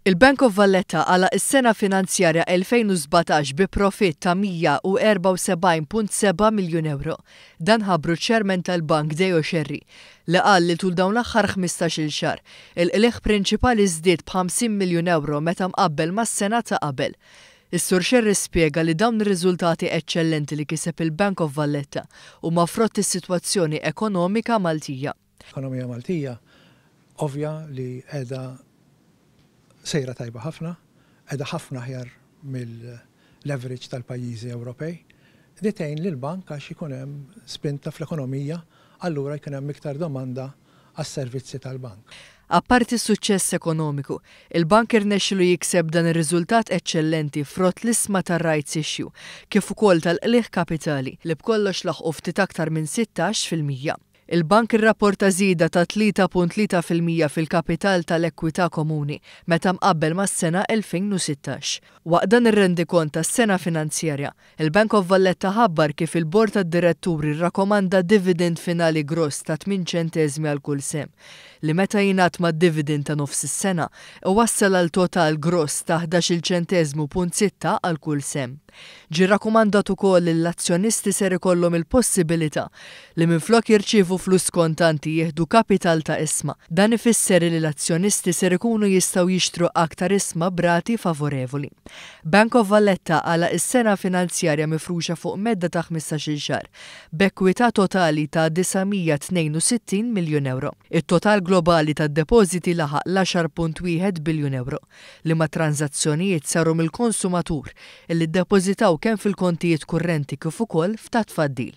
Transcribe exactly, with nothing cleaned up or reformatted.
Il-Bank of Valletta għalaq is-sena finanzjarja elfejn u sbatax bi profitt ta' mija u erbgħa u sebgħin punt seba' miljun euro. Dan ħabbru ċ-ċermen tal-bank Deo Scerri, li qal li tul dawn l-aħħar ħmistax-il xahar, il-qligħ prinċipali żdied b'ħamsin miljun euro meta mqabbel mas-sena ta' qabel. Is-Sur Scerri spjega li dawn ir-riżultati eċċellenti li kiseb il-Bank of Valletta huma frott is-sitwazzjoni ekonomika Maltija. Ekonomija Maltija ovvja li qiegħda sejra tajba ħafna, qiegħda ħafna aħjar mill-leverage tal-pajjiżi Ewropej. Di tgħin lill-bank għax ikun hemm spinta fl-ekonomija, allura jkun hemm iktar domanda għas-servizzi tal-bank. Apparti s-suċċess ekonomiku, il-bank irnexxielu jikseb dan ir-riżultat eċċellenti frott l-isma tar-rights issue, kif ukoll tal-qligħ kapitali li b'kollox laħqu ftit aktar minn sittax fil-mija. Il-bank irrapporta żieda ta' tlieta punt tlieta fil-mija fil-kapital tal-ekwità komuni meta mqabbel mas-sena elfejn u sittax. Waqt dan ir-rendikont tas-sena finanzjarja, il-Bank of Valletta ħabbar kif il-Bord tad-Diretturi rrakkomanda dividend finali gross ta' tmien ċenteżmi għal kull sehem, li meta jingħad mad-dividend ta' nofs is-sena iwassal għal total gross ta' ħdax-il ċenteżmu punt sitta għal kull sehem. Ġie rrakkomandat ukoll li l-azzjonisti ser ikollhom il-possibilità li minflok jirċievu flus kontanti jieħdu kapital ta' isma. Dan ifisser li l-azzjonisti ser ikunu jistgħu jixtru aktar isma b'rati favorevoli. Bank of Valletta għalaq is-sena finanzjarja mifruxa fuq medda ta' ħmistax-il xahar b'ekwità totali ta' disa' mija tnejn u sittin miljun euro. It-total globali tad-depożiti laħaq l-għaxar punt wieħed biljun euro, li ma' tranzazzjonijiet saru mill-konsumatur illi ddepożitaw kemm fil-kontijiet kurrenti kif ukoll f'ta' tfaddil.